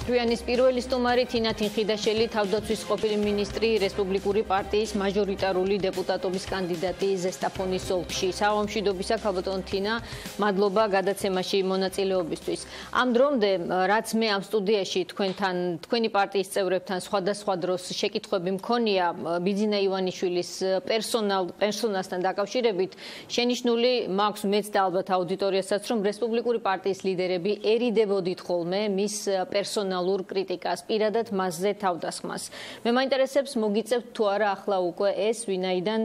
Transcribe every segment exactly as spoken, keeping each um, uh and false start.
Რუანის პირველი სტუმარი თინა თინხიდაშელი, თავდაცვის ყოფილი მინისტრი, რესპუბლიკური პარტიის მაჟორიტარული დეპუტატობის კანდიდატი ზესტაფონის ოლქში. Საღამოშვიდობისა ქალბატონ თინა, მადლობა გადაცემაში მონაწილეობისთვის. Ამ დრომდე, რაც მე ამ სტუდიაში თქვენთან, თქვენი პარტიის წევრებთან სხვადასხვა დროს შეკითხვები მქონია ბიძინა ივანიშვილის პერსონალ პერსონასთან დაკავშირებით, შენიშნული მაქვს მეც და ალბათ აუდიტორიასაც, რომ რესპუბლიკური პარტიის ლიდერები ერიდებოდით ხოლმე მის პერსონალურ კრიტიკას, პირადად მასზე თავდასხმას. მე მაინტერესებს მოგიწევთ თუ არა ახლა უკვე ეს, ვინაიდან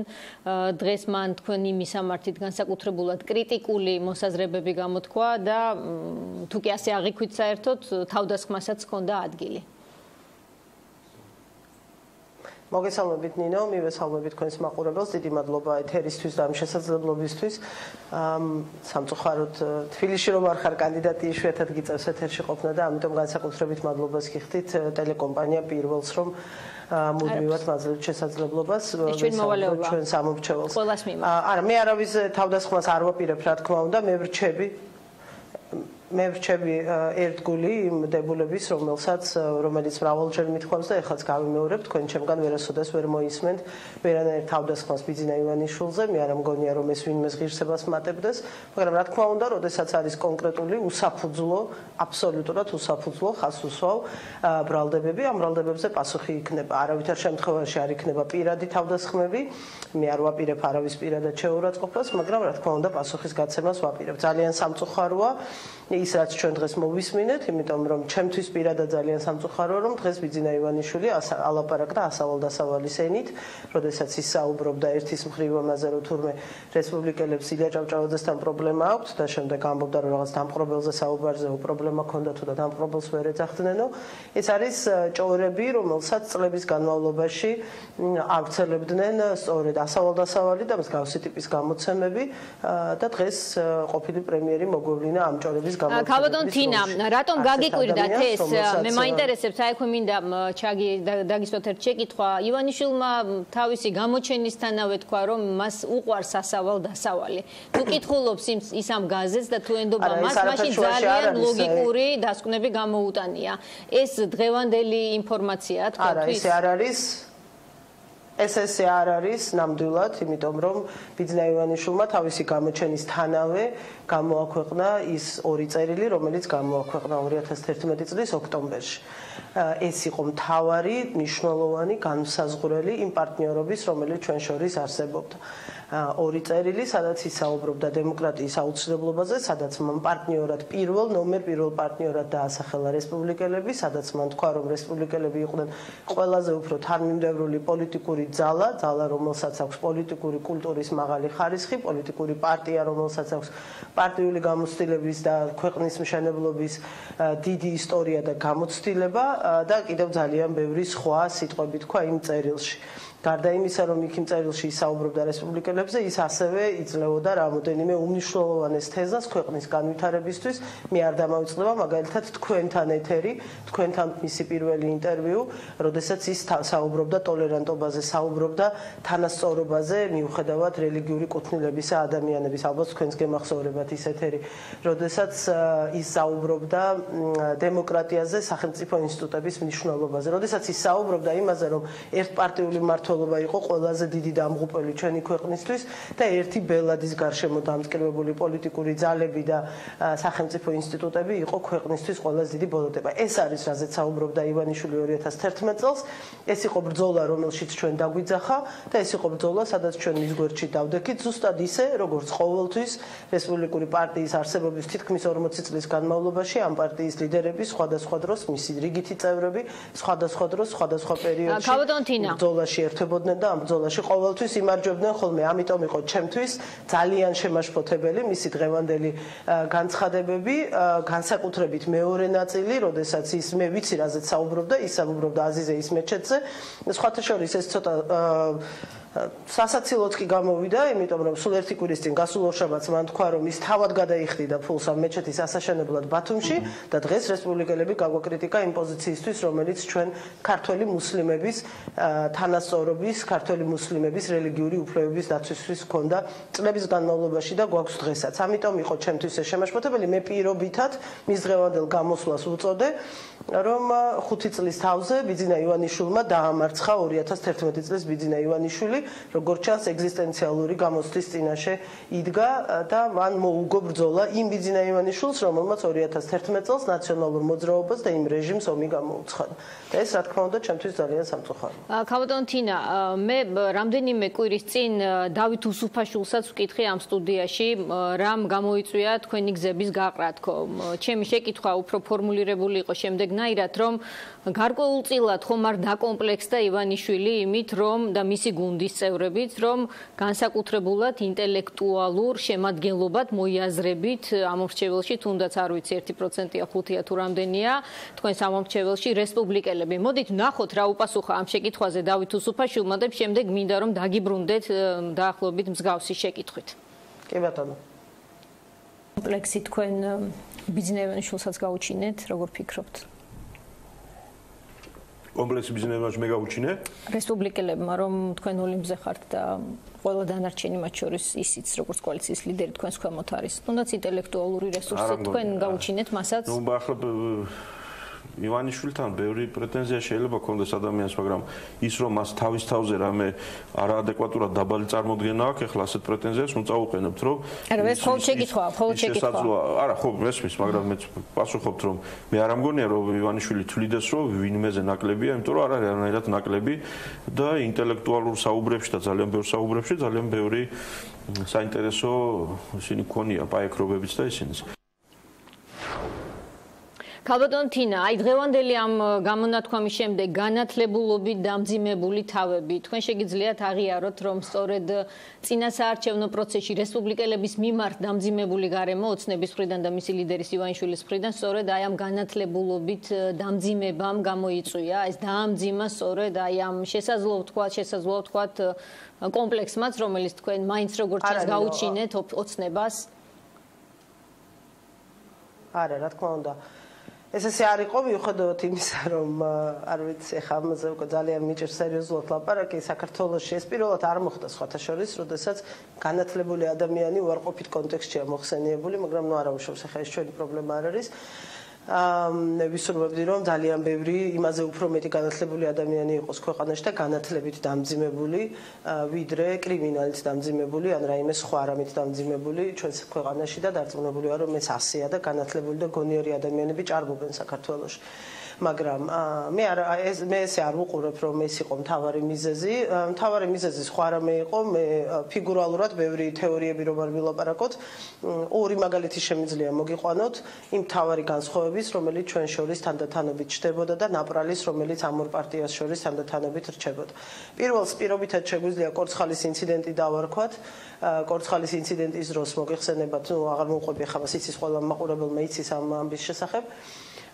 დღეს მან თქვენი მისამართით განსაკუთრებულად კრიტიკული მოსაზრებები გამოთქვა და თუ კი ასე აღიქვით საერთოდ თავდასხმასაც ჰქონდა ადგილი. მოგესალმებით ნინო, მივესალმებით თქვენს მაყურებელს, დიდი მადლობა ეთერისთვის და ამ შესაძლებლობისთვის. სამწუხაროდ თბილისში რომ არ ხარ კანდიდატი, იშვიათად გიწევს ეთერში ყოფნა და ამიტომ განსაკუთრებით მადლობას გიხდით ტელეკომპანია პირველს, რომ მუდმივად მაძლევთ შესაძლებლობას ჩვენ სამომრჩეველს. არა, მე არავის თავდასხმას არ ვაპირებ, რა თქმა უნდა, მე ვრჩები მე ვრჩები ერთგული იმ დებულების, რომელსაც რომელიც მრავალჯერ მithქვამს და ეხლაც გავიმეორებ, თქვენ ჩემგან ვერასოდეს ვერ მოისმენთ ვერანაირ თავდასხმას ბიძინა ივანიშვილზე, მე არ მგონია რომ ეს ვინმეს ღირსებას მატებდეს, მაგრამ რა თქმა უნდა, როდესაც არის კონკრეტული უსაფუძვლო, აბსოლუტურად უსაფუძვლო ხაზუსვავ ბრალდებები, ამ ბრალდებებზე პასუხი იქნება. არავითარ შემთხვევაში არ იქნება პირადი თავდასხმები, მე არ ვაპირებ არავის პირადად შეურაცხყოფას, მაგრამ რა თქმა უნდა, პასუხის გაცემას ვაპირებ. ძალიან სამწუხაროა ის რაც ჩვენ დღეს მოვისმინეთ, იმიტომ რომ ჩემთვის პირადად ძალიან სამწუხაროა, რომ დღეს ბიძინა ივანიშვილი ალაპარაკდა ასავალ-დასავალი ენით, როდესაც ის საუბრობდა ერთის მხრივ ამაზე, რომ თურმე რესპუბლიკელებს ილია ჭავჭავაძესთან პრობლემა აქვთ და შემდეგ ამბობდა, რომ რაღაც დამპყრობელზე საუბარზე პრობლემა ჰქონდა თუ და დამპყრობელს ვერ ეძახდნენო. ეს არის ჭორები, რომელსაც წლების განმავლობაში ავრცელებდნენ სწორედ ასავალ-დასავალი და მსგავსი ტიპის გამოცემები და დღეს ყოფილი პრემიერი მოგვევლინა ამ ჭორების ქალბატონ თინა, რატომ გაგიკვირდათ ეს? მე მაინტერესებს, აი ხო მინდა ჩაგი დაგისვათ ერთ შეკითხვა. ივანიშვილმა თავისი გამოჩენისთანავე თქვა, რომ მას უყვარს ასავალ-დასავალი. თუ კითხულობს ის ამ გაზეთს და თუ ენდობა მას, მაშინ ძალიან ლოგიკური დასკვნები გამოუტანია. ეს დღევანდელი ინფორმაციაა თქვენთვის? არა, ეს არ არის. ეს ესე არ არის ნამდვილად, იმიტომ რომ ბიძინა ივანიშვილმა თავისი გამოჩენისთანავე გამოაქვეყნა ის ორი წერილი, რომელიც გამოაქვეყნა ორი ათას თერთმეტი წლის ოქტომბერში. ეს იყო მთავარი, მნიშვნელოვანი განმსაზღვრელი იმ პარტნიორობის, რომელიც ჩვენ შორის არსებობდა. ორი წერილი, სადაც ისაუბრობდა დემოკრატიის აუცილებლობაზე, სადაც მან პარტნიორად პირველ ნომერ პირველ პარტნიორად დაასახელა რესპუბლიკელები, სადაც მან თქვა, რომ რესპუბლიკელები იყვნენ ყველაზე უფრო თანმიმდევრული პოლიტიკური ძალა, ძალა, რომელსაც აქვს პოლიტიკური კულტურის მაღალი ხარისხი, პოლიტიკური პარტია, რომელსაც აქვს პარტიული გამოცდილების და ქვეყნის მშენებლობის დიდი ისტორია და გამოცდილება და კიდევ ძალიან ბევრი სხვა სიტყვები თქვა იმ წერილში. გარდა იმისა, რომ იქ იმ წერილში ისაუბრებდა რესპუბლიკელებზე, ის ასევე იძლეოდა რამოდენიმე უმნიშვნელოვანეს თეზას ქვეყნის განვითარებისთვის. მე არ დამავიწყდება მაგალითად თქვენთან ეთერი, თქვენთან მისი პირველი ინტერვიუ, როდესაც ის საუბრობდა ტოლერანტობაზე, საუბრობდა თანასწორობაზე, მიუხედავად რელიგიური კუთვნილებისა ადამიანების, ალბათ თქვენს გემახსოვრებათ ის ეთერი, როდესაც ის საუბრობდა დემოკრატიაზე, სახელმწიფო ინსტიტუტების მნიშვნელობაზე, როდესაც ის საუბრობდა იმაზე, რომ ერთპარტიული მმართველობა იყო ყველაზე დიდი დამღუპელი ჩვენი ქვეყნისთვის და ერთი ბელადის გარშემო დამტკიცებული პოლიტიკური ძალები და სახელმწიფო ინსტიტუტები იყო ქვეყნისთვის ყველაზე დიდი ბოლოტება. ეს არის რაზეც საუბრობდა ივანიშვილი ორი ათას თერთმეტ წელს. ეს იყო ბრძოლა, რომელშიც ჩვენ დაგვიძახა და ეს იყო ბრძოლა, სადაც ჩვენ მის გვერდში დავდექით, ზუსტად ისე, როგორც ყოველთვის რესპუბლიკური პარტიის არსებობის თითქმის ორმოცი წლის განმავლობაში ამ პარტიის ლიდერები სხვადასხვა დროს, მისი რიგითი წევრები სხვადასხვა დროს, სხვადასხვა პერიოდში ბრძოლაში ერთვებოდნენ და ამ ბრძოლაში ყოველთვის იმარჯვებდნენ ხოლმე. ამიტომ იყო ჩემთვის ძალიან შემაშფოთებელი მისი დღევანდელი განცხადებები, განსაკუთრებით მეორე ნაწილი, როდესაც ის მე ვიცი რაზეც საუბრობდა, ის საუბრობდა აზიზე ისმეჩეთზე. სხვათა შორის ეს ცოტა სასაცილოც კი გამოვიდა, იმიტომ რომ სულ ერთი კვირის წინ გასულ ორშაბათს მან თქვა, რომ ის თავად გადაიხდიდა ფულს ამ მეჩეთის ასაშენებლად ბათუმში და დღეს რესპუბლიკელები გაგვაკრიტიკა იმ პოზიციისთვის, რომელიც ჩვენ ქართველი მუსლიმების თანასწორობის, ქართველი მუსლიმების რელიგიური უფლებების დაცვისთვის ჰქონდა წლების განმავლობაში და გვაქვს დღესაც. ამიტომ იყო ჩემთვის ეს შემაშფოთებელი. მე პირობითად მის დღევანდელ გამოსვლას უწოდე, რომ ხუთი წლის თავზე ბიძინა ივანიშვილმა დაამარცხა ორი ათას თერთმეტი წლის ბიძინა ივანიშვილი, როგორც ჩანს ეგზისტენციალური გამოცდის წინაშე იდგა და მან მოუგო ბრძოლა იმ ბიძინა ივანიშვილს, რომელმაც ორი ათას თერთმეტ წელს ნაციონალურ მოძრაობას და იმ რეჟიმს ომი გამოუცხადა. და ეს რა თქმა უნდა ჩემთვის ძალიან სამწუხაროა. ქალბატონ თინა, მე რამდენიმე კვირის წინ დავით უსუფაშვილსაც ვკითხე ამ სტუდიაში, რამ გამოიწვია თქვენი გზების გაყრა თქო. ჩემი შეკითხვა უფრო ფორმულირებული იყო შემდეგნაირად, რომ გარკვეულწილად ხომ არ დაკომპლექსდა ივანიშვილი იმით, რომ და მისი გუნდის წევრებით, რომ განსაკუთრებულად ინტელექტუალურ შემადგენლობად მოიაზრებით ამომრჩეველში, თუნდაც არ ვიცი ერთი პროცენტია, ხუთია თუ რამდენია, თქვენს ამომრჩეველში რესპუბლიკელები. მოდით ვნახოთ რა უპასუხა ამ შეკითხვაზე დავით უსუფაშვილმა და შემდეგ მინდა რომ დაგიბრუნდეთ დაახლოებით მსგავსი შეკითხვით. კი ბატონო. კომპლექსი თქვენ ბიძინა ივანიშვილსაც გაუჩინეთ, როგორ ფიქრობთ? კომპლექსი ბიძინა ივანიშვილს მე გავუჩინე? რესპუბლიკელებმა რომ თქვენ ოლიმპზე ხართ და ყველა დანარჩენი მათ შორის ისიც როგორც კოალიციის ლიდერი თქვენს ქვემოთ არის. თუნდაც ინტელექტუალური რესურსი თქვენ გაუჩინეთ მასაც? ნუ ახლა ივანიშვილთან ბევრი პრეტენზია შეიძლება ქონდეს ადამიანს, მაგრამ ის რომ მას თავის თავზე რამე არაადეკვატურად დაბალი წარმოდგენა აქვს, ეხლა ასეთ პრეტენზიას უნდა წაუყენებთ, რომ არა, ეს მხოლოდ შეკითხვაა, მხოლოდ შეკითხვაა. არა, ხო, მესმის, მაგრამ მეც პასუხობთ, რომ მე არ ამგონია, რომ ივანიშვილი თვლიდეს, რომ ვინმეზე ნაკლებია, იმიტომ რომ არ არის არანაირად ნაკლები და ინტელექტუალურ საუბრებში და ძალიან ბევრ საუბრებში ძალიან ბევრი საინტერესო ისინი ქონია, პაექრობებიც და ისინიც. ქალბატონ თინა, აი დღევანდელი ამ გამონათქვამის შემდეგ განათლებულობით დამძიმებული თავები, თქვენ შეგიძლიათ აღიაროთ, რომ სწორედ წინასაარჩევნო პროცესში რესპუბლიკელების მიმართ დამძიმებული გარემო ოცნების მხრიდან და მისი ლიდერის ივანიშვილის მხრიდან სწორედ აი ამ განათლებულობით დამძიმებამ გამოიწვია, ეს დაამძიმა სწორედ აი ამ შესაძლოა თქვა, შესაძლოა თქვა კომპლექსმაც, რომელიც თქვენ მაინც როგორც ჩანს გაუჩინეთ ოცნებას? არა, რა თქმა უნდა. ეს ესე არ იყო მიუხედავად იმისა, რომ არ ვიცი, ახლა ამაზე უკვე ძალიან მიჭირს სერიოზულად ლაპარაკი, საქართველოში ეს პირველად არ მოხდა სხვათა შორის, როდესაც განათლებული ადამიანი უარყოფით კონტექსტშია მოხსენიებული, მაგრამ ნუ არა უშავს, ახლა ეს ჩვენი პრობლემა არ არის. მე ვისურვებდი, რომ ძალიან ბევრი იმაზე უფრო მეტი განათლებული ადამიანი იყოს ქვეყანაში და განათლებით დამძიმებული, ვიდრე კრიმინალით დამძიმებული, ან რაიმე სხვა რამით დამძიმებული ჩვენს ქვეყანაში და დარწმუნებული ვარ, რომ ეს ასეა და განათლებული და გონიერი ადამიანები ჭარბობენ საქართველოში. მაგრამ მე არ ეს მე ესე არ ვუყურებ, რომ ეს იყო მთავარი მიზეზი. მთავარი მიზეზი სხვა რამე იყო, მე ფიგურალურად ბევრი თეორიები რომ არ ვილაპარაკოთ, ორი მაგალითი შემიძლია მოგიყვანოთ იმ მთავარი განსხვავების, რომელიც ჩვენ შორის თანდათანობით ჩდებოდა და ნაპრალის, რომელიც ამ ორ პარტიას შორის თანდათანობით რჩებოდა. პირველს პირობითად შეგვიძლია კორცხალის ინციდენტი დავარქვათ. კორცხალის ინციდენტის დროს მოგიხსენებათ, ნუ აღარ მოვყვები ახლა იცის ყველა მაყურებელმა იცის ამ ამბის შესახებ.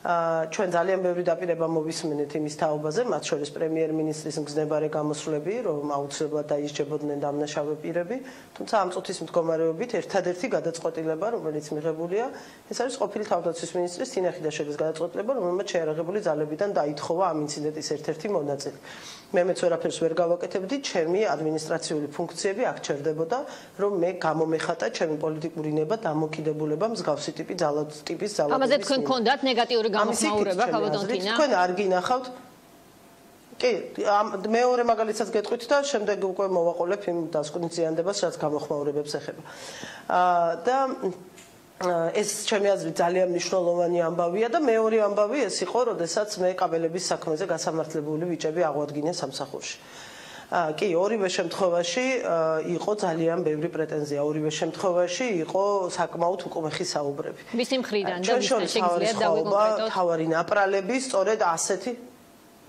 ჩვენ ძალიან ბევრი დაპირება მოვისმენთ იმის თაობაზე, მათ შორის პრემიერ-მინისტრის მგზნებარე გამოსვლები, რომ აუცილებლად დაისჯებოდნენ დამნაშავე პირები, თუმცა ამ წუთის მდგომარეობით ერთადერთი გადაწყვეტილება, რომელიც მიღებულია, ეს არის ყოფილი თავდაცვის მინისტრის თინა ხიდაშელის გადაწყვეტილება, რომელმაც შეიარაღებული ძალებიდან დაითხოვა ამ ინციდენტის ერთ-ერთი მონაწილე. მე მეც ვერაფერს ვერ გავაკეთებდი, ჩემი ადმინისტრაციული ფუნქციები აქ ჩერდებოდა, რომ მე გამომეხატა ჩემი პოლიტიკური ნება დამოკიდებულება მსგავსი ტიპის ძალადობის ძალადობის. ამაზე თქვენ გქონდათ ნეგატიური გამოხმაურება, ქალბატონ თინა? თქვენ არ გინახავთ? კი, მეორე მაგალითსაც გეტყვით და შემდეგ უკვე მოვაყოლებ იმ დასკვნითზიანდებას, რაც გამოხმაურებებს ეხება. და ეს ჩემი აზრით ძალიან მნიშვნელოვანი ამბავია და მეორე ამბავი ეს იყო, როდესაც მე კაბელების საქმეზე გასამართლებული ბიჭები აღვადგინე სამსახურში. კი, ორივე შემთხვევაში იყო ძალიან ბევრი პრეტენზია, ორივე შემთხვევაში იყო საკმაოდ უკმეხი საუბრები. ვისი მხრიდან და ვისთან შეგიძლიათ დავიკონკრეტოთ? თავარი ნაპრალები, სწორედ ასეთი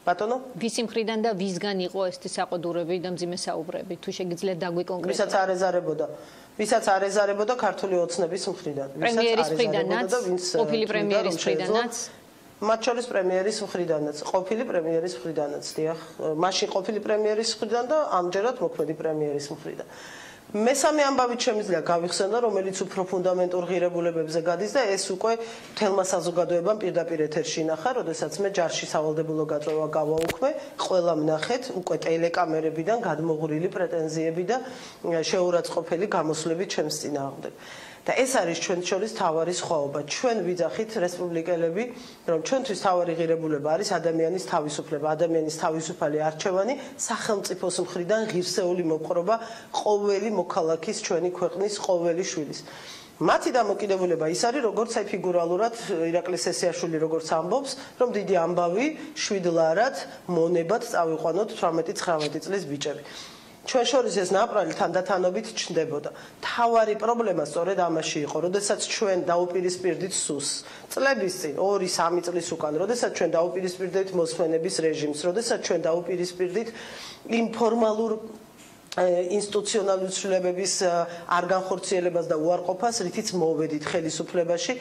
ბატონო? ვისი მხრიდან და ვისგან იყო ეს საყდურები და მძიმე საუბრები? თუ შეგიძლიათ დავიკონკრეტოთ? ვისაც არ ეზარებოდა. ვისაც არ ეზარებოდა ქართული ოცნების მხრიდან. პრემიერის მხრიდანაც, ყოფილი პრემიერის მხრიდანაც. მათ შორის პრემიერის მხრიდანაც, ყოფილი პრემიერის მხრიდანაც, დიახ, მაშინ ყოფილი პრემიერის მხრიდან და ამჯერად მოქმედი პრემიერის მხრიდან. მესამე ამბავით შემიძლია გავიხსენო, რომელიც უფრო ფუნდამენტურ ღირებულებებზე გადის და ეს უკვე მთელმა საზოგადოებამ პირდაპირ ეთერში ნახა, როდესაც მე ჯარში სავალდებულო გაწვევა გავაუქმე, ყველამ ნახეთ უკვე ტელეკამერებიდან გადმოღვრილი პრეტენზიები და შეურაცხყოფელი გამოსვლები ჩემს წინააღმდეგ. და ეს არის ჩვენ შორის თავარი სხვაობა. ჩვენ ვიძახით რესპუბლიკელები, რომ ჩვენთვის თავარი ღირებულება არის ადამიანის თავისუფლება, ადამიანის თავისუფალი არჩევანი, სახელმწიფოს მხრიდან ღირსეული მოპყრობა ყოველი მოქალაქის ჩვენი ქვეყნის ყოველი შვილის. მათი დამოკიდებულება ის არის, როგორც აი ფიგურალურად ირაკლი სესიაშვილი როგორც ამბობს, რომ დიდი ამბავი შვიდლარად მონებად წავიყვანოთ თვრამეტი ცხრამეტი წლის ბიჭები. ჩვენ შორის ეს ნაპრალი თანდათანობით ჩნდებოდა. თავარი პრობლემა სწორედ ამაში იყო, როდესაც ჩვენ დაუპირისპირდით სუს. წლების წინ, ორი სამი წლის უკან, როდესაც ჩვენ დაუპირისპირდით მოსვენების რეჟიმს, როდესაც ჩვენ დაუპირისპირდით ინფორმალურ ინსტიტუციონალური ცვლილებების არ განხორციელებას და უარყოფას, რითიც მოვედით ხელისუფლებაში,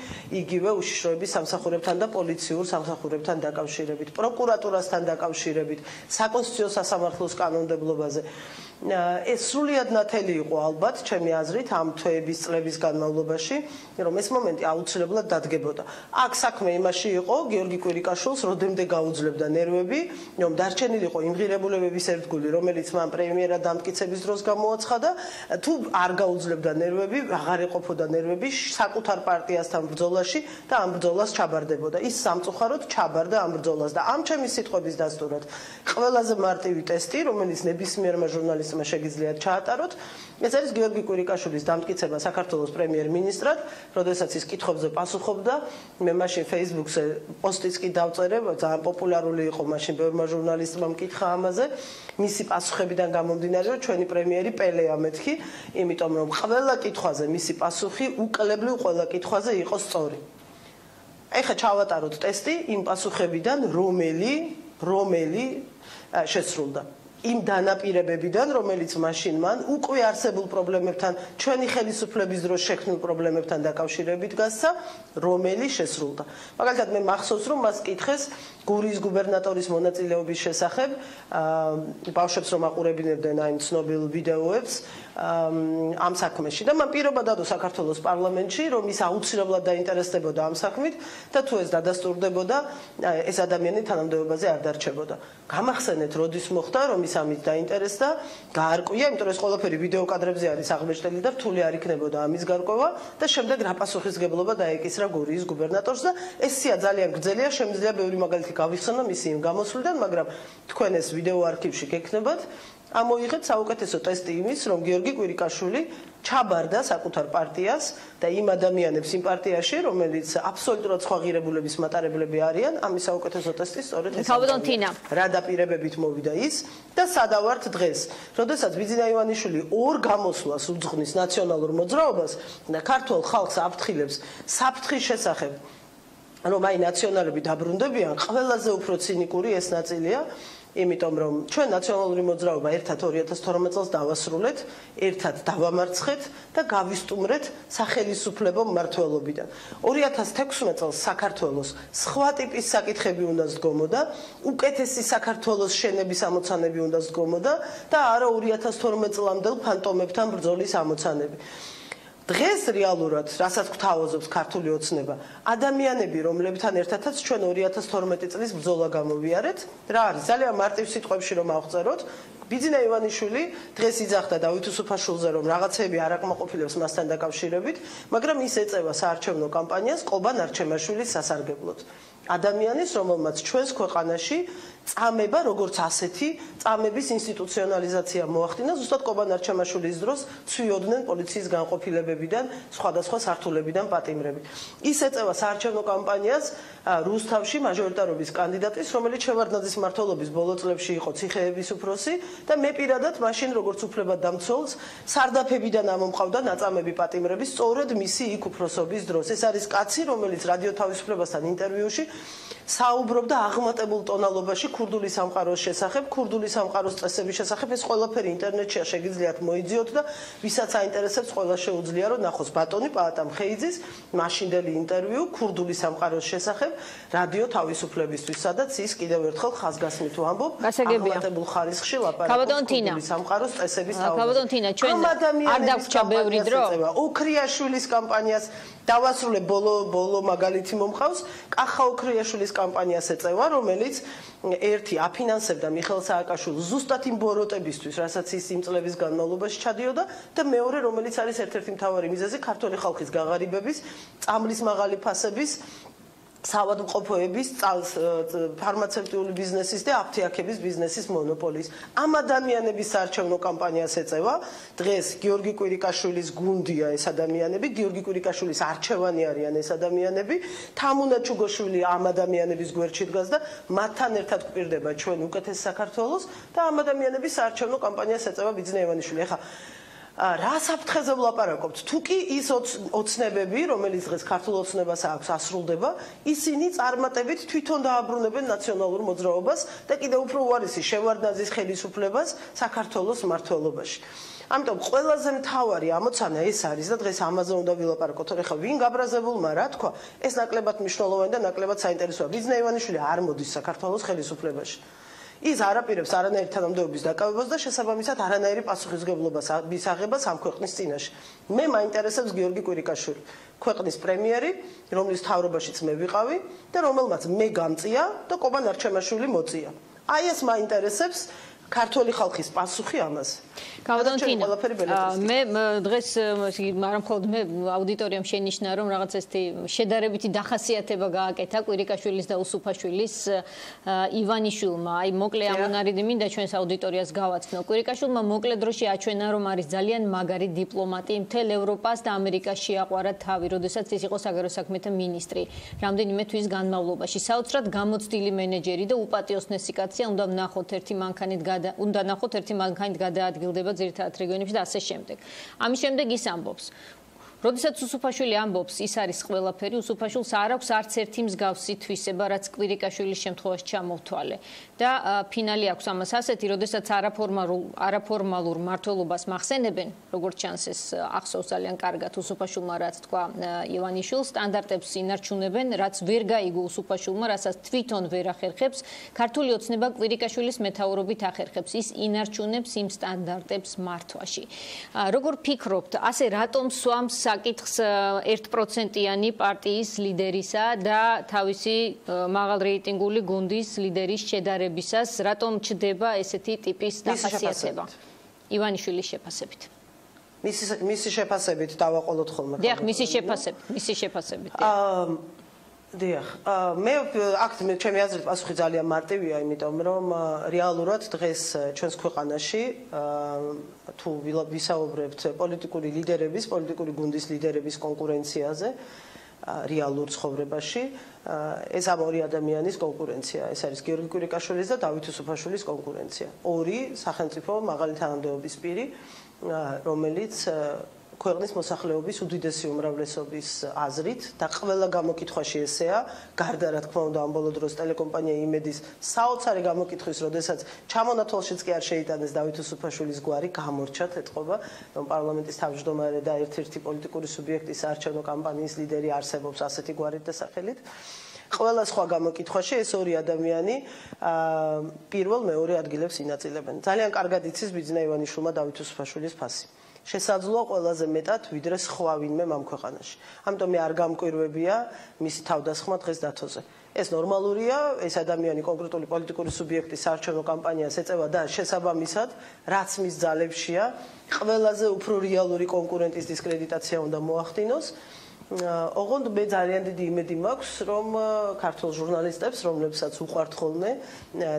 იგივე უშიშროების სამსახურებთან და პოლიციურ სამსახურებთან დაკავშირებით, პროკურატურასთან დაკავშირებით, საკონსტიტუციო სასამართლოს კანონმდებლობაზე. ეს სრულიად ნათელი იყო ალბათ, ჩემი აზრით, ამ თვეების წლების განმავლობაში, რომ ეს მომენტი აუცილებლად დადგებოდა. აქ საქმე იმაში იყო, გიორგი კვირიკაშვილს როდემდე გაუძლებდა ნერვები, რომ დარჩენილიყო იმ ღირებულებების ერთგული, რომელიც მან პრემიერად დამტკიცების დროს გამოაცხადა, თუ არ გაუძლებდა ნერვები, აღარ ეყოფოდა ნერვები საკუთარ პარტიასთან ბრძოლაში და ამ ბრძოლას ჩაბარდებოდა. ის სამწუხაროდ ჩაბარდა ამ ბრძოლას და ამ ჩემი სიტყვების დასტურად ყველაზე მარტივი ტესტი, რომელიც ნებისმიერმა ჟურნალისტმა შეგიძლიათ ჩაატაროთ, ეს არის გიორგი კვირიკაშვილის დამტკიცება საქართველოს პრემიერ-მინისტრად, როდესაც ის კითხვებზე პასუხობდა, მე მაშინ Facebook-ზე პოსტიც კი დავწერე, ძალიან პოპულარული იყო მაშინ ბევრმა ჟურნალისტმა მკითხა ამაზე, მისი პასუხებიდან გამომდინარე, რომ ჩვენი პრემიერი პელეა მეთქი, იმიტომ რომ ყველა კითხვაზე მისი პასუხი უკლებლივ ყველა კითხვაზე იყო სწორი. ეხლა ჩავატაროთ ტესტი იმ პასუხებიდან, რომელი, რომელი შესრულდა. იმ დანაპირებებიდან, რომელიც მაშინ მან უკვე არსებულ პრობლემებთან, ჩვენი ხელისუფლების დროს შექმნილ პრობლემებთან დაკავშირებით გასცა, რომელი შესრულდა. მაგალითად, მე მახსოვს, რომ მას კითხეს გურიის გუბერნატორის მონაწილეობის შესახებ, ბავშვებს რომ აყურებინებდნენ აი ცნობილ ვიდეოებს ამ საქმეში და მან პირობა დადო საქართველოს პარლამენტში, რომ ის აუცილებლად დაინტერესდებოდა ამ საქმით და თუ ეს დადასტურდებოდა, ეს ადამიანი თანამდებობაზე არ დარჩებოდა. გამახსენეთ, როდის მოხდა, რომ ის ამით დაინტერესდა, გაარკვია, იმიტომ რომ ეს ყველაფერი ვიდეო კადრებზე არის აღმოჩნდილი და რთული არ იქნებოდა ამის გარკვევა და შემდეგ რა პასუხისგებლობა დაეკისრა გურიის გუბერნატორს და ეს სია ძალიან გრძელია, შემიძლია ბევრი მაგალითი გავიხსენო მისი იმ გამოსვლიდან, მაგრამ თქვენ ეს ვიდეო არქივში გექნებათ. ამოიღეთ საუკეთესო ტესტი იმის, რომ გიორგი კვირიკაშვილი ჩაბარდა საკუთარ პარტიას და იმ ადამიანებს იმ პარტიაში, რომელიც აბსოლუტურად სხვა ღირებულების მატარებლები არიან, ამის საუკეთესო ტესტი სწორედ ეს. რა დაპირებებით მოვიდა ის და სადავართ დღეს, როდესაც ბიძინა ივანიშვილი ორ გამოსვლას უძღვნის ნაციონალურ მოძრაობას და ქართულ ხალხს აფრთხილებს საფრთხის შესახებ, რომ აი ნაციონალები დაბრუნდებიან, ყველაზე უფრო ცინიკური ეს ნაწილია. იმიტომ რომ ჩვენ ნაციონალური მოძრაობა ერთად ორი ათას თორმეტ წელს დავასრულეთ, ერთად დავამარცხეთ და გავისტუმრეთ სახელისუფლებო მმართველობიდან. ორი ათას თექვსმეტ წელს საქართველოს სხვა ტიპის საკითხები უნდა სდგომოდა, უკეთესი საქართველოს შენების ამოცანები უნდა სდგომოდა და არა ორი ათას თორმეტ წლამდელ ფანტომებთან ბრძოლის ამოცანები. დღეს რეალურად, რასაც გვთავაზობს ქართული ოცნება, ადამიანები, რომლებთან ერთადაც ჩვენ ორი ათას თორმეტი წლის ბრძოლა გამოვიარეთ, რა არის? ძალიან მარტივ სიტყვებში რომ ავწეროთ, ბიძინა ივანიშვილი დღეს იძახდა დავით უსუფაშვილზე, რომ რაღაცები არ აკმაყოფილებს მასთან დაკავშირებით, მაგრამ ის ეწევა საარჩევნო კამპანიას ყობან არჩემაშვილის სასარგებლოდ. ადამიანის, რომელმაც ჩვენს ქვეყანაში წამება, როგორც ასეთი, წამების ინსტიტუციონალიზაცია მოახდინა, ზუსტად ყობან არჩემაშვილის დროს ცვიოდნენ პოლიციის განყოფილებებიდან, სხვადასხვა სართულებიდან პატიმრები. ის ეწევა საარჩევნო კამპანიას რუსთავში მაჟორიტარობის კანდიდატის, რომელიც შევარდნაძის მმართველობის ბოლო წლებში იყო ციხეების უფროსი და მე პირადად მაშინ როგორც უფლებადამცველს სარდაფებიდან ამომყავდა ნაწამები პატიმრები სწორედ მისი იქ უფროსობის დროს. ეს არის კაცი, რომელიც რადიო თავისუფლებასთან ინტერვიუში საუბრობდა აღმატებულ ტონალობაში ქურდული სამყაროს შესახებ, ქურდული სამყაროს წესების შესახებ. ეს ყველაფერი ინტერნეტში შეგიძლიათ მოიძიოთ და ვისაც აინტერესებს, ყველა შეუძლია რომ ნახოს ბატონი პაატამ ხეიძის მაშინდელი ინტერვიუ ქურდული სამყაროს შესახებ რადიო თავისუფლებისთვის, სადაც ის კიდევ ერთხელ ხაზგასმით ვამბობ აღმატებულ ხარისხში ლაპარაკობს ქურდული სამყაროს წესების თავისუფლებას. ამ ადამიანების ბევრი დრო ოქრიაშვილის კამპანიას დავასრულებ ბოლო ბოლო მაგალითი მომხავს კახა ოქრიაშვილის კამპანიას ეწევა, რომელიც ერთი აფინანსებდა მიხეილ სააკაშვილს ზუსტად იმ ბოროტებისთვის, რასაც ის იმ წლების განმავლობაში ჩადიოდა და მეორე, რომელიც არის ერთ-ერთი მთავარი მიზეზი ქართული ხალხის გაღარიბების, წამლის მაღალი ფასების საავადმყოფოების, ფარმაცევტიული ბიზნესის და აფთიაქების ბიზნესის მონოპოლის. ამ ადამიანების საარჩევნო კამპანიას ეწევა. დღეს გიორგი კვირიკაშვილის გუნდია ეს ადამიანები, გიორგი კვირიკაშვილის არჩევანი არიან ეს ადამიანები. თამუნა ჩუგოშვილი ამ ადამიანების გვერდში დგას და მათთან ერთად გვპირდება ჩვენ უკეთეს საქართველოს და ამ ადამიანების საარჩევნო კამპანიას ეწევა ბიძინა ივანიშვილი. ეხლა რა საფრთხეზე ვლაპარაკობთ? თუ კი ის ოცნებები, რომელიც დღეს ქართულ ოცნებას აქვს ასრულდება, ისინი წარმატებით თვითონ დააბრუნებენ ნაციონალურ მოძრაობას და კიდევ უფრო უარესი შევარდნაძის ხელისუფლებას საქართველოს მმართველობაში. ამიტომ ყველაზე მთავარი ამოცანა ეს არის და დღეს ამაზე უნდა ვილაპარაკოთ. ეხლა ვინ გაბრაზებულმა რა თქვა, ეს ნაკლებად მნიშვნელოვანი და ნაკლებად საინტერესოა. ბიძინა ივანიშვილი არ მოდის საქართველოს ხელისუფლებაში. ის არაპირებს არანაირი თანამდებობის დაკავებას და შესაბამისად არანაირი პასუხისმგებლობას მისაღებას ამ ქვეყნის წინაშე. მე მაინტერესებს გიორგი კვირიკაშვილი, ქვეყნის პრემიერი, რომლის თავრობაშიც მე ვიყავი და რომელმაც მე გამწია და კობა ნარჩემაშვილი მოწია. აი ეს მაინტერესებს ქართული ხალხის პასუხი ამაზე. გავდანთინა მე დღეს არა მხოლოდ მე აუდიტორიამ შენიშნა რომ რაღაც ესეთი შედარებითი დახასიათება გააკეთა კვირიკაშვილის და უსუფაშვილის ივანიშვილმა. აი მოკლე ამონარიდი მინდა ჩვენს აუდიტორიას გავაცნო. კვირიკაშვილმა მოკლე დროში აჩვენა რომ არის ძალიან მაგარი დიპლომატი, მთელ ევროპას და ამერიკას შეაყვარა თავი, როდესაც ის იყო საგარეო საქმეთა მინისტრი რამდენიმე თვის განმავლობაში. საოცრად გამოცდილი მენეჯერი და უპატიოსნესი კაცია, უნდა ვნახოთ ერთი მანქანით უნდა ნახოთ ერთი მანქანით გადაადგილდება ძირითადად რეგიონებში და ასე შემდეგ. ამის შემდეგ ის ამბობს, როდესაც უსუფაშვილი ამბობს, ის არის ყველაფერი, უსუფაშვილს არ აქვს არც ერთი მსგავსი თვისება, რაც კვირიკაშვილის შემთხვევაში ჩამოვთვალე. და ფინალი აქვს ამას ასეთი, როდესაც არაფორმალურ არაფორმალურ მმართველობას მახსენებენ, როგორც ჩანს ეს ახსოვს ძალიან კარგად უსუფაშვილმა რაც თქვა ივანიშვილს, სტანდარტებს ინარჩუნებენ, რაც ვერ გაიგო უსუფაშვილმა, რასაც თვითონ ვერ ახერხებს, ქართული ოცნება კვირიკაშვილის მეთაურობით ახერხებს, ის ინარჩუნებს იმ სტანდარტებს მართვაში. როგორ ფიქრობთ, ასე რატომ სვამს საკითხს ერთ პროცენტიანი პარტიის ლიდერისა და თავისი მაღალ რეიტინგული გუნდის ლიდერის შედარებისას, რატომ ჩდება ესეთი ტიპის დახასიათება? ივანიშვილის შეფასებით. მისი მისი შეფასებით დავაყოლოთ ხოლმე. დიახ, მისი შეფასებით, მისი შეფასებით. აა დიახ, მე აქ მე ჩემი აზრით პასუხი ძალიან მარტივია, იმიტომ რომ რეალურად დღეს ჩვენს ქვეყანაში თუ ვისაუბრებთ პოლიტიკური ლიდერების, პოლიტიკური გუნდის ლიდერების კონკურენციაზე რეალურ ცხოვრებაში, ეს ამ ორი ადამიანის კონკურენცია. ეს არის გიორგი კვირიკაშვილის და დავით უსუფაშვილის კონკურენცია. ორი სახელმწიფო მაღალი თანამდებობის პირი, რომელიც ქვეყნის მოსახლეობის უდიდესი უმრავლესობის აზრით და ყველა გამოკითხვაში ესეა, გარდა რა თქმა უნდა ამ ბოლო დროს ტელეკომპანია იმედის საოცარი გამოკითხვის, როდესაც ჩამონათვალშიც კი არ შეიტანეს დავით უსუფაშვილის გვარი, გამორჩათ ეთყობა, რომ პარლამენტის თავმჯდომარე და ერთ-ერთი პოლიტიკური სუბიექტის არჩევნო კამპანიის ლიდერი არსებობს ასეთი გვარით და სახელით. ყველა სხვა გამოკითხვაში ეს ორი ადამიანი პირველ მეორე ადგილებს ინაწილებენ. ძალიან კარგად იცის ბიძინა ივანიშვილმა დავით უსუფაშვილის ფასი. შესაძლოა ყველაზე მეტად ვიდრე სხვა ვინმე ამ ქვეყანაში. ამიტომ მე არ გამკვირვებია მისი თავდასხმა დღეს დათოზე. ეს ნორმალურია, ეს ადამიანი კონკრეტული პოლიტიკური სუბიექტის საარჩევნო კამპანიას ეწევა და შესაბამისად, რაც მის ძალებშია, ყველაზე უფრო რეალური კონკურენტის დისკრედიტაცია უნდა მოახდინოს. ოღონდ მე ძალიან დიდი იმედი მაქვს, რომ ქართულ ჟურნალისტებს, რომლებსაც უყვართ ხოლმე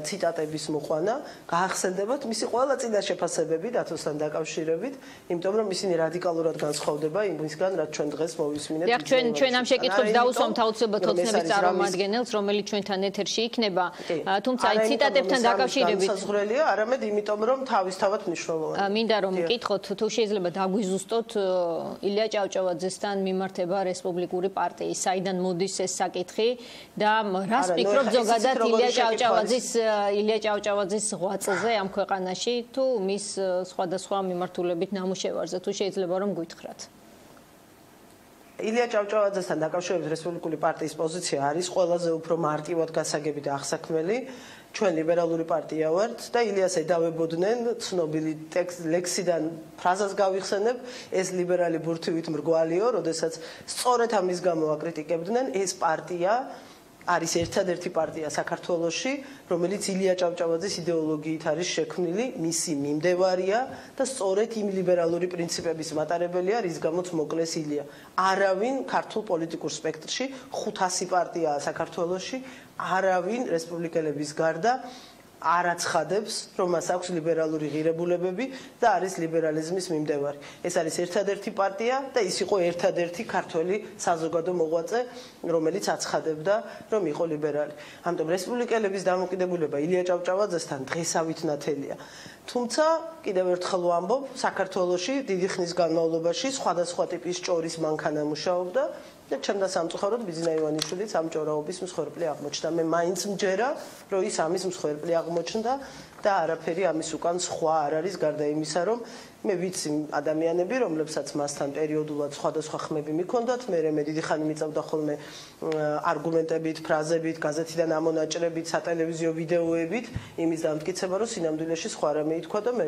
ციტატების მოყვანა, გაახსენდებათ მისი ყველა წინა შეფასებები დათოსთან დაკავშირებით, იმიტომ რომ ისინი რადიკალურად განსხვავდება იმისგან, რაც ჩვენ დღეს მოვისმინეთ. დიახ, ჩვენ ჩვენ ამ შეკითხვებს დაუსვამთ აუცილებლად ოცნების წარმომადგენელს, რომელიც ჩვენთან ეთერში იქნება, თუმცა აი ციტატებთან დაკავშირებით საზღვრელია, არამედ იმიტომ რომ თავისთავად მნიშვნელოვანია. მინდა რომ მკითხოთ, თუ შეიძლება დაგვიზუსტოთ ილია ჭავჭავაძესთან მიმართება რესპუბლიკური პარტიის. საიდან მოდის ეს საკითხი და რას ფიქრობ ზოგადად ილია ჭავჭავაძის ილია ჭავჭავაძის ღვაწლზე ამ ქვეყანაში თუ მის სხვადასხვა მიმართულებით ნამუშევარზე თუ შეიძლება რომ გვითხრათ? ილია ჭავჭავაძესთან დაკავშირებით რესპუბლიკური პარტიის პოზიცია არის ყველაზე უფრო მარტივად გასაგები და აღსაქმელი. ჩვენ ლიბერალური პარტია ვართ და ილიას ედავებოდნენ ცნობილი ლექსიდან ფრაზას გავიხსენებ, ეს ლიბერალი ბურთივით მრგვალიო, როდესაც სწორედ ამის გამო აკრიტიკებდნენ, ეს პარტია არის ერთადერთი პარტია საქართველოში, რომელიც ილია ჭავჭავაძის იდეოლოგიით არის შექმნილი, მისი მიმდევარია და სწორედ იმ ლიბერალური პრინციპების მატარებელია, რის გამოც მოკლეს ილია. არავინ ქართულ პოლიტიკურ სპექტრში ხუთასი პარტიაა საქართველოში, არავინ რესპუბლიკელების გარდა არ აცხადებს, რომ მას აქვს ლიბერალური ღირებულებები და არის ლიბერალიზმის მიმდევარი. ეს არის ერთადერთი პარტია და ის იყო ერთადერთი ქართველი საზოგადო მოღვაწე, რომელიც აცხადებდა, რომ იყო ლიბერალი. ამიტომ რესპუბლიკელების დამოკიდებულება ილია ჭავჭავაძესთან დღესავით ნათელია. თუმცა კიდევ ერთხელ ვამბობ, საქართველოში დიდი ხნის განმავლობაში სხვადასხვა ტიპის ჭორის მანქანა მუშაობდა და ჩემდა სამწუხაროდ ბიძინა ივანიშვილიც ამ ჭორაობის მსხვერპლი აღმოჩნდა. მე მაინც მჯერა, რომ ის ამის მსხვერპლი აღმოჩნდა და არაფერი ამის უკან სხვა არ არის გარდა იმისა, რომ მე ვიცი ადამიანები, რომლებსაც მასთან პერიოდულად სხვადასხვა ხმები მიქონდათ, მე მე დიდი ხანი მიწევდა ხოლმე არგუმენტებით, ფრაზებით, გაზეთიდან ამონაჭრებით, სატელევიზიო ვიდეოებით, იმის დამტკიცება, რომ სინამდვილეში სხვა რამე ითქვა და მე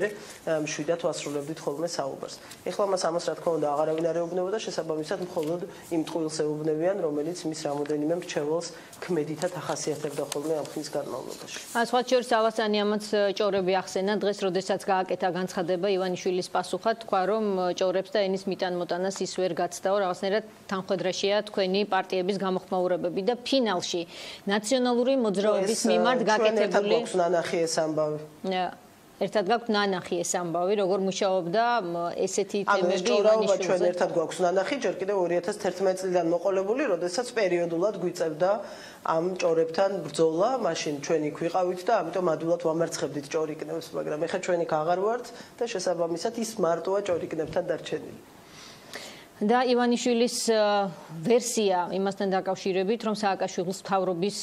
მშვიდად ვასრულებდით ხოლმე საუბარს. ეხლა მას ამას რა თქმა უნდა აღარავინ არ ეუბნებოდა, შესაბამისად მხოლოდ იმ ტყუილს ეუბნებიან, რომელიც მის რამოდენიმე მრჩეველს ქმედითად ახასიათებდა ხოლმე ამ ხნის განმავლობაში. სხვა შორის ავასანი ამაც ჭორები ახსენა დღეს, როდესაც გააკეთა განცხადება ივანიშვილის პასუხად თქვა, რომ ჭორებს და ენის მიტან-მოტანას ის ვერ გაცდაო, რაღაცნაირად თანხმედრაშია თქვენი პარტიების გამოხმაურებები და ფინალში ნაციონალური მოძრაობის მიმართ გაკეთებული გვაქვს ნანახი ეს ამბავი. ერთად გაქვთ ნანახი ეს ამბავი, როგორ მუშაობდა ესეთი თემები ივანიშვილზე. ჩვენ ერთად გვაქვს ნანახი, ჯერ კიდევ ორი ათას თერთმეტი წლიდან მოყოლებული, როდესაც პერიოდულად გვიწევდა ამ ჭორებთან ბრძოლა, მაშინ ჩვენ იქ ვიყავით და ამიტომ ადვილად ვამარცხებდით ჭორიკნებს, მაგრამ ეხლა ჩვენ იქ აღარ ვართ და შესაბამისად ის მარტოა ჭორიკნებთან დარჩენილი. და ივანიშვილის ვერსია იმასთან დაკავშირებით, რომ სააკაშვილის მთავრობის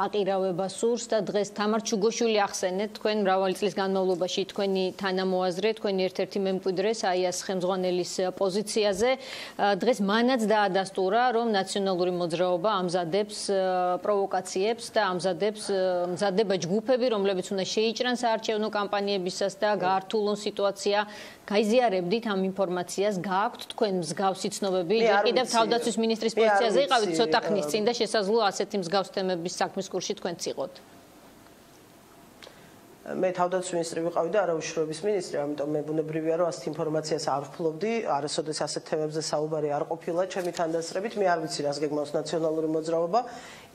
აყირავება სურს და დღეს თამარ ჩუგოშვილი ახსენეთ თქვენ მრავალი წლის განმავლობაში თქვენი თანამოაზრე, თქვენი ერთ-ერთი მემკვიდრე საიას ხელმძღვანელის პოზიციაზე. დღეს მანაც დაადასტურა, რომ ნაციონალური მოძრაობა ამზადებს პროვოკაციებს და ამზადებს მზადება ჯგუფები, რომლებიც უნდა შეიჭრან საარჩევნო კამპანიებისას და გაართულონ სიტუაცია. გაიზიარებდით ამ ინფორმაციას, გააქვთ თქვენ მსგავსი ცნობები? კიდევ თავდაცვის მინისტრის პოზიციაზე იყავით ცოტა ხნის წინ და შესაძლოა ასეთი მსგავს თემების საქმის კურსში თქვენც იყოთ. მე თავდაცვის მინისტრი ვიყავი და არავიშროების მინისტრი, ამიტომ მე ბუნებრივია, რომ ასეთ ინფორმაციას არ ვფლობდი, არასოდეს ასეთ თემებზე საუბარი არ ყოფილა ჩემი თანდასწრებით. მე არ ვიცი რას გეგმავს ნაციონალური მოძრაობა.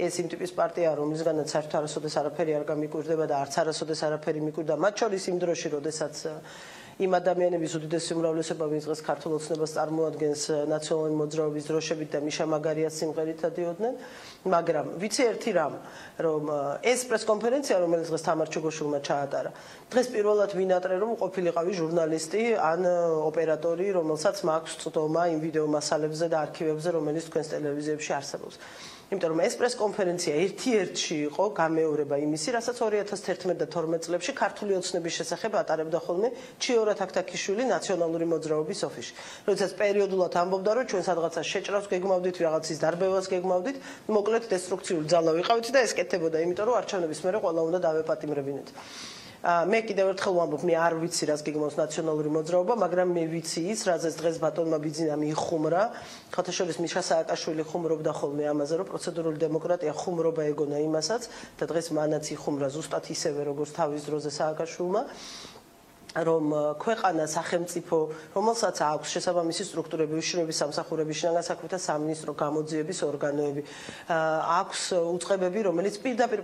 ეს იმ ტიპის პარტია, რომლისგანაც საერთოდ არასოდეს არაფერი არ გამიკვირდება და არც არასოდეს არაფერი მიკვირდა, მათ შორის იმ დროში, როდესაც იმ ადამიანების უდიდესი უმრავლესობა, ვინც დღეს ქართულ ოცნებას წარმოადგენს ნაციონალური მოძრაობის დროშებით და მიშა მაგარიას სიმღერით დადიოდნენ, მაგრამ ვიცი ერთი რამ, რომ ეს პრესკონფერენცია, რომელიც დღეს თამარ ჩუგოშვილმა ჩაატარა, დღეს პირველად ვინატრე, რომ ყოფილიყავი ჟურნალისტი ან ოპერატორი, რომელსაც მაქვს წვდომა იმ ვიდეო მასალებზე და არქივებზე, რომელიც თქვენს ტელევიზიებში არსებობს. იმიტომ რომ ეს პრესკონფერენცია ერთ-ერთში იყო გამეორება იმისი, რასაც ორი ათას თერთმეტი და თორმეტი წლებში ქართული ოცნების შესახებ ატარებდა ხოლმე ჩიორა თაქთაქიშვილი ნაციონალური მოძრაობის ოფისში. როდესაც პერიოდულად ამბობდა, რომ ჩვენ სადღაცას შეჭრავს გეგმავდით, რაღაცის დარბევას გეგმავდით, მოკლედ დესტრუქციული ძალა ვიყავით და ეს კეთდებოდა, იმიტომ რომ არჩევნების მერე ყველა უნდა დავეპატიმრებინეთ. მე კიდევ ერთხელ ვამბობ, მე არ ვიცი რას გეგმავს ნაციონალური მოძრაობა, მაგრამ მე ვიცი ის, რაზეც დღეს ბატონმა ბიძინამ იხუმრა, ხოთაშორის მიშა სააკაშვილი ხუმრობდა ხოლმე ამაზე, რომ პროცედურული დემოკრატია ხუმრობა ეგონა იმასაც და დღეს მანაც იხუმრა ზუსტად ისევე, როგორც თავის დროზე სააკაშვილმა. რომ ქვეყანა სახელმწიფო, რომელსაც აქვს შესაბამისი სტრუქტურები, უშიშროების სამსახურების შინაგან საქმეთა სამინისტრო, გამოძიების ორგანოები, აქვს უწყებები, რომელიც პირდაპირ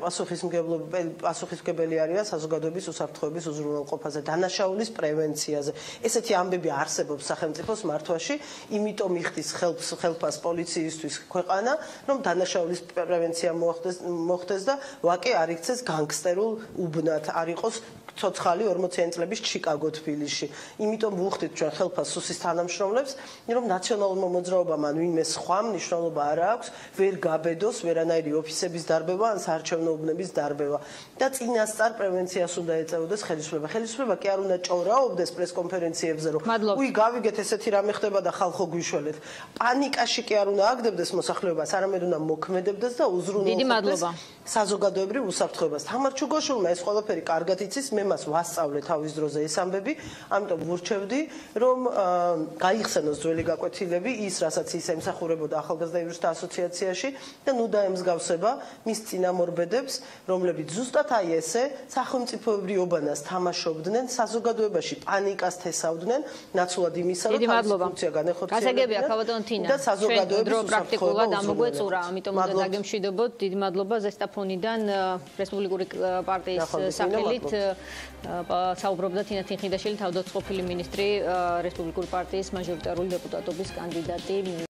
პასუხისმგებელი არიან საზოგადოების უსაფრთხოების უზრუნველყოფაზე, დანაშაულის პრევენციაზე. ესეთი ამბები არსებობს სახელმწიფოს მართვაში, იმიტომ იხდის ხელფას პოლიციისთვის ქვეყანა, რომ დანაშაულის პრევენცია მოხდეს და ვაკე არ იქცეს განგსტერულ უბნად, არ იყოს ცოცხალი ორმოციანი წლების ჩიკ ჩიკაგო, თბილისში. იმიტომ ვუხდით ჩვენ ხელფასუსის თანამშრომლებს, რომ ნაციონალურმა მოძრაობამ ან ვინმე სხვა მნიშვნელობა არ აქვს, ვერ გაბედოს ვერანაირი ოფისების დარბევა ან საარჩევნო უბნების დარბევა და წინასწარ პრევენციას უნდა ეწეოდეს ხელისუფლება. ხელისუფლება კი არ უნდა ჭორაობდეს პრესკონფერენციებზე, რომ უი გავიგეთ ესეთი რამე ხდება და ხალხო გვიშველეთ. პანიკაში კი არ უნდა აგდებდეს მოსახლეობას, არამედ უნდა მოქმედებდეს და უზრუნველყოფდეს საზოგადოებრივ უსაფრთხოებას. თამარ ჩუგოშვილმა ეს ყველაფერი კარგად იცის, მე მას ვასწავლე თავის დროზე ეს ამბები, ამიტომ ვურჩევდი, რომ გაიხსენოს ძველი გაკვეთილები, ის რასაც ის ემსახურებოდა ახალგაზრდა იურისტთა ასოციაციაში და ნუ დაემსგავსება მის წინამორბედებს, რომლებიც ზუსტად აი ესე სახელმწიფოებრივ ობანას თამაშობდნენ, საზოგადოებაში პანიკას თესავდნენ, ნაცვლად იმისა, რომ თავისი ფუნქცია განეხორციელებდნენ და საზოგადოების პრაქტიკულად ამოგვეწურა, ამიტომ უნდა დაგემშვიდობოთ. დიდი მადლობა ზესტაფონიდან რესპუბლიკური პარტიის სახელით საუბრობდა თინა თინხიდაშვილი, თავდაცვის ყოფილი მინისტრი, რესპუბლიკური პარტიის მაჟორიტარული დეპუტატობის კანდიდატი.